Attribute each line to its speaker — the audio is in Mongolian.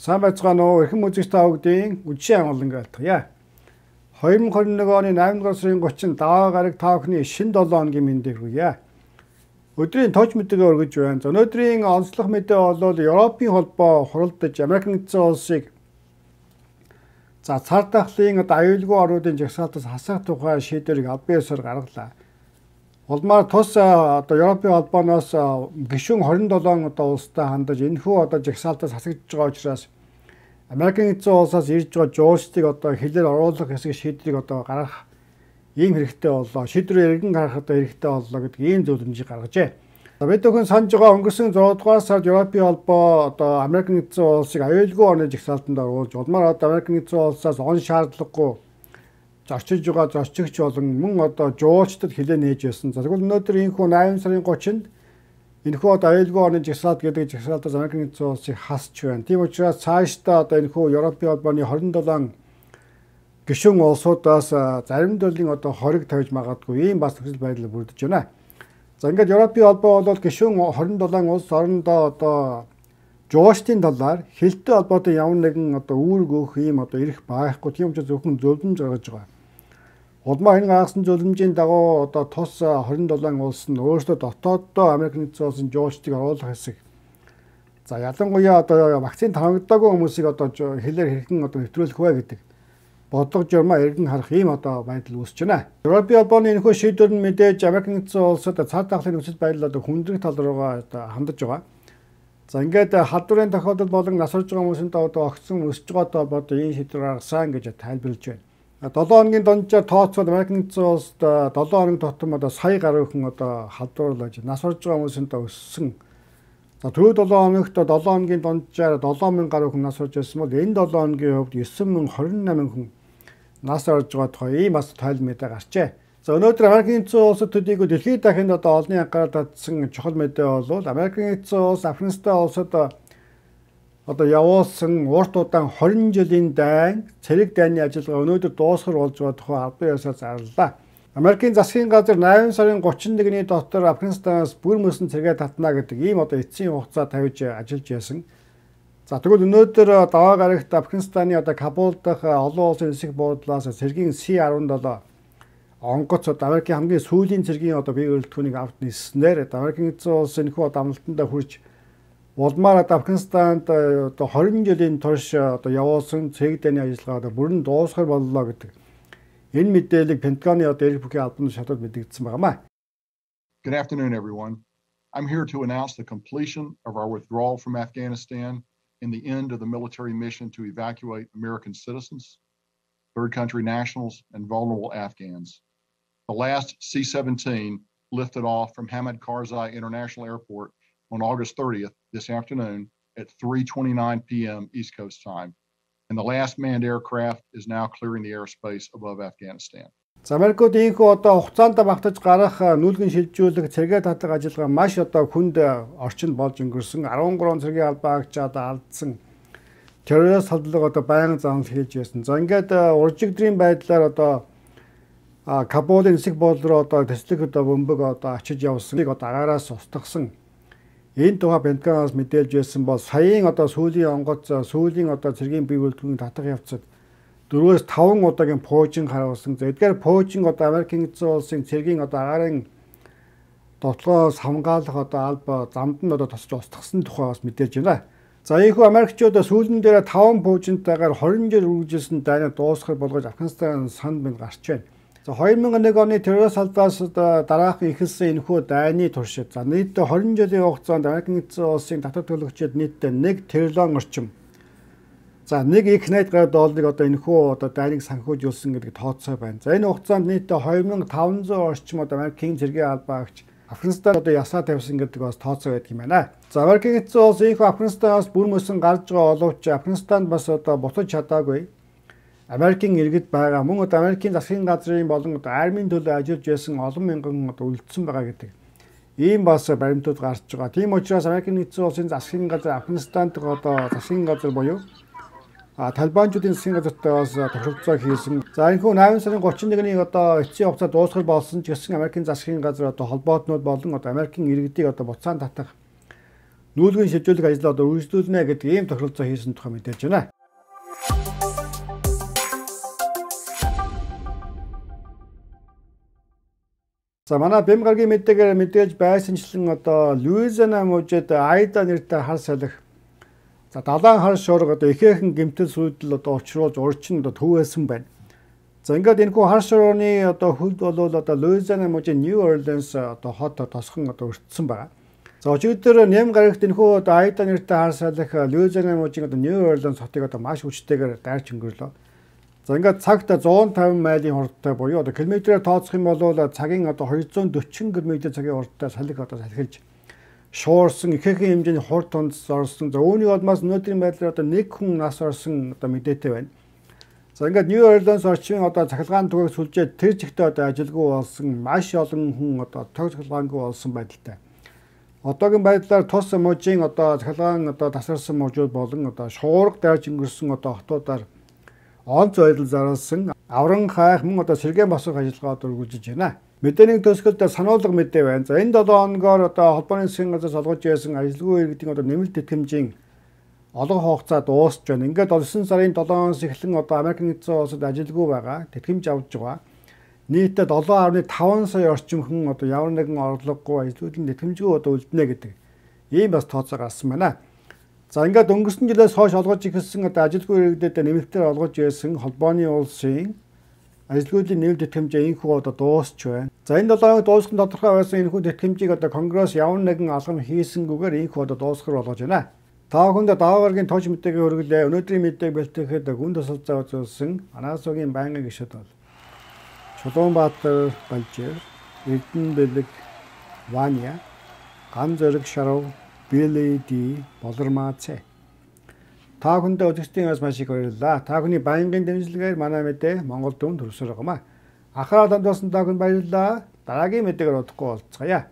Speaker 1: Сайн байцгаана уу? Эрхэм үзэгч та бүгдийн үдшийн амгалан айлтгая. 2021 оны 8 дугаар сарын 30-нд даваа гараг та бүхний шинэ 7 хоногийн мэндийг хүргье. Өдрийн тооч мэдээгээ өргөж байна. Өнөөдрийн онцлог мэдээ бол Европын холбоо хуралдаж Америк нэгдсэн улсыг цар тахлын аюулгүй орнуудын жагсаалтаас хасах тухай шийдвэрийг албан ёсоор гаргалаа. Улмаар тус Европын холбооноос гишүүн 27 улстай хандаж энэхүү жагсаалтаас хасагдж байгаа учраас Америкийн нэгдсэн улсаас ирж байгаа жуулчдыг хэлээр оруулах хэсэг шийдвэрийг гаргах ийм хэрэгтэй боллоо. Шийдвэрээ эргэн гаргахад хэрэгтэй боллоо гэдэг ийм зөвлөмжийг гаргажээ. Бид бүхэн санаж байгаа өнгөрсөн 6 дугаар сард Европын холбоо Америкийн нэгдсэн улсыг аюулгүй орны жагсаалтанд оруулж улмаар Америкийн нэгдсэн улсаас он шаардлагагүй зорчиж байгаа зорчигч болон мөн жуулчдад хилээ нээж байсан. Тэгвэл өнөөдөр энэхүү 8 сарын 30-нд энэхүү аюулгүй орны жагсаалт гэдэг жагсаалтаас Америкийн нэгдсэн улсыг хасч байна. Тийм учраас цаашдаа энэхүү Европын холбооны 27 гишүүн улсуудаас зарим төрлийн хориг тавьж магадгүй ийм бас нөхцөл байдал бүрдэж байна. За ингээд Европын холбоо бол гишүүн 27 улс орондоо жуулчдын талаар хилтэй холбоотой ямар нэгэн үүрэг өгөх ийм эрх байхгүй. Тийм учраас зөвхөн зөвлөмж гаргаж байгаа. Улмаа энэ гаргасан зөвлөмжийн дагуу тус 27 улс нь өөрсдөө дотооддоо Америк нэгдсэн улсын жуулчдыг оруулах хэсэг. За ялангуяа вакцин тавигдаагүй хүмүүсийг хэлээр хэрхэн нэвтрүүлэх вэ гэдэг бодлого журмаа эргэн харах ийм байдал үүсэж байна. Европын холбооны энэхүү шийдвэр нь мэдээж Америк нэгдсэн улсад цар тахлын нөхцөл байдал хүндрэх тал руугаа хандаж байгаа. За ингээд халдварын тохиолдол болон насварж байгаа хүмүүсийн огцсон өсөж байгаатай холбоотой ийм шийдвэр гаргасан гэж тайлбарлаж байна. 7 хоногийн дунджаар тооцоод Америк нэгдсэн улсад 7 хоногийн тутам сая гаруй хүн халдварлаж насварж байгаа хүмүүсийн өссөн. За түрүү 7 хоногт 7 хоногийн дунджаар 7000 гаруй хүн насварж байсан бол энэ 7 хоногийн хувьд 9028 хүн нас орж байгаа тухай ийм бас тайлбар мэдээ гарчээ. За өнөөдөр Америкийн нэгдсэн улсад төдийгүй дэлхийд дахинд олонний анхаарал татсан чухал мэдээ бол Америкийн нэгдсэн улс Афганистан улсад явуулсан урт удаан 20 жилийн дайн цэрэг дайны ажиллагаа өнөөдөр дуусгар болж байгаа тухай албан ёсоор зарлалаа. Америкийн засгийн газар 8 сарын 31-ний дотор Афганистанаас бүр мөсөн цэгээ татна гэдэг ийм эцсийн хугацаа тавьж ажиллаж байсан. За тэгвэл өнөөдөр даваа гарагт Афганистаны Кабул дахь олон улсын нисэх буудлаас цэргийн C-17 онгоц Америкийн хамгийн сүүлийн цэргийн бие өрөлтгөөнийг авт ниснээр Америкийн нэгдсэн улс энэхүү амлалтанд хүрч улмаар Афганистанд 20 жилийн турш явуулсан цэрэг дайны ажиллагаа бүрэн дуусгар боллоо гэдэг энэ мэдээллийг Пентагоны эрх бүхий албан шатад мэдэгдсэн байнамаа.
Speaker 2: Good afternoon, everyone. I'm here to announce the completion of our withdrawal from Afghanistan and the end of the military mission to evacuate American citizens, third country nationals, and vulnerable Afghans. The last C-17 lifted off from Hamid Karzai International Airport on August 30th this afternoon at 3:29 p.m. East Coast time. And the last manned aircraft is now clearing the airspace above Afghanistan.
Speaker 1: Америкууд ийхүү хугацаанд багтаж гарах нүүлгэн шилжүүлэх цэргээ татлах ажиллагаа маш хүнд орчинд болж өнгөрсөн 13 цэргийн албаагчид алдсан террорист халдлага байнга занал хийж байсан. За ингээд уржигдрийн байдлаар Кабулын нисэх буудлын руу төслөх бөмбөг очиж явсныг агаараас устгасан. Энэ тухай Пентагоноос мэдээлж байсан бол саяын сүүлийн онгоц сүүлийн цэргийн бие бүрэлдэхүүнийг татах явцад 4-5 удаагийн пуужин харуулсан. Эдгээр пуужин Америкийн нэгдсэн улсын цэргийн агаарын дотлоос хамгаалах алба замд нь тосч устгасан тухай бас мэдээлж байна. За ийхүү Америкчууд сүүлэн дээр 5 пуужинтайгаар 20 жил үргэлжилсэн дайныг дуусгах болгож Афганистан санд мэд гарч байна. За 2001 оны террорист халдлаас дараахан эхэлсэн энэхүү дайны туршид нийт 20 жилийн хугацаанд Америкийн нэгдсэн улсын татвар төлөгчид нийтдээ 1 триллион орчим $1 их найд гаруй долларыг энэхүү дайныг санхүүжүүлсэн гэдэг тооцоо байна. За энэ хугацаанд нийтдээ 2500 орчим Америкийн цэргийн албаагч Афганистанд ясаа тавьсан гэдэг бас тооцоо байдаг юм байна. За Америкийн нэгдсэн улс ийхүү Афганистанаас бүр мөсөн гарч байгаа боловч Афганистанд бас буцаж чадаагүй. Америкийн иргэд байгаа мөн Америкийн засгийн газрын болон армийн төлөө ажиллаж байсан олон мянган үлдсэн байгаа гэдэг ийм бас баримтууд гарч байгаа. Тийм учраас Америкийн нэгдсэн улсын засгийн газар Афганистанд засгийн газар буюу Талибанчуудын засгийн газартай бас тохиролцоо хийсэн. За энэхүү 8 сарын 31-ний эцсийн хугацаа дуусгал болсон ч гэсэн Америкийн засгийн газар холбоотнууд болон Америкийн иргэдийг буцаан татах нүүлгийн шилжүүлэх ажлаа одоо үргэлжлүүлнэ гэдэг ийм тохиролцоо хийсэн тухай мэдээж байна. За манай Бэм гарагийн мэдээгээр мэдээж байсанчлан одоо Луизиана мужид Айда нэртэй хар салхи за далайн хар шуурга одоо ихээхэн гэмтэл сүйдэл одоо учруулж урчин одоо төвөөсөн байна. За ингээд энэхүү хар шуурганы одоо хөлд болвол одоо Луизиана мужийн New Orleans одоо хот тосхон одоо өртсөн байна. За өчигдөр нэм гарагт энэхүү одоо Айда нэртэй хар салхи Луизиана мужийн одоо New Orleans хотыг одоо маш хүчтэйгээр дайрч өнгөрлөө. За ингээд цагт 150 милийн хурдтай буюу одоо километрээр тооцох юм бол цагийн одоо 240 км цагийн хурдтай салхи одоо салхилж шуурсан ихээхэн хэмжээний хурд тонд орсон. За үүний улмаас өнөөдрийн байдлаар одоо нэг хүн нас орсон одоо мэдээтэй байна. За ингээд New Orleans орчмын одоо цахилгаан түгээг сүлжээд тэр чигтээ одоо ажилгүй болсон маш олон хүн одоо тог цахилгаангүй болсон байдалтай. Одоогийн байдлаар тус мужийн одоо цахилгаан одоо тасарсан мужууд болон одоо шуурга дайрч өнгөрсөн одоо хотуудаар онц байдал зарласан авран хайх мөн одоо сэргээн босгох ажиллагаа одоо үргэлжлэж байна. Мэдээний төсгөлд сануулга мэдээ байна. За энэ 7 хоногоор одоо холбооны засгийн газраас олгож байсан ажилгүй иргэдийн одоо нэмэлт тэтгэмжийн олон хугацаа дуусч байна. Ингээд 9 сарын 7-оос эхлэн одоо Америк нэгдсэн улсад ажилгүй байгаа тэтгэмж авч байгаа. Нийтдээ 7.5 сая орчим хүн одоо ямар нэгэн орлогогүй ажилтнуудын тэтгэмжгүй одоо үлднэ гэдэг ийм бас тооцоо гарсан байна. За ингээд өнгөрсөн жилээс хойш олгож ирсэн одоо ажилгүй иргэдэд нэмэлтээр олгож ирсэн холбооны улсын ажилгүйдийн нэмэлт тэтгэмжээ энэхүү одоо дуусч байна. За энэ 7 хоног дуусах нь тодорхой байсан энэхүү тэтгэмжийг одоо Конгресс ямар нэгэн алхам хийсэнгүүгээр энэхүү одоо дуусгах болгож байна. Та бүхэнд даваа гарагийн тооч мэдээгээ хүргэлээ. Өнөөдрийн мэдээг бэлтгэхэд гүн тусалцаа үзүүлсэн Анаасуугийн байнгын гишүүд бол Чулуунбаатар Балжир, Эрдэнэ Бэлэг Ваня, Ган Зориг Шарав, Билли Ди Болормаа Цэ. Та бүхэндээ үзэгчдийн бас маш их баярлалаа. Та бүхний байнгын дэмжлэгээр манай мэдээ Монгол дүн төрсөр байгаамаа. Анхаарал хандуулсан та бүхэнд баярлалаа. Дараагийн мэдээгээр удахгүй уулзцаая.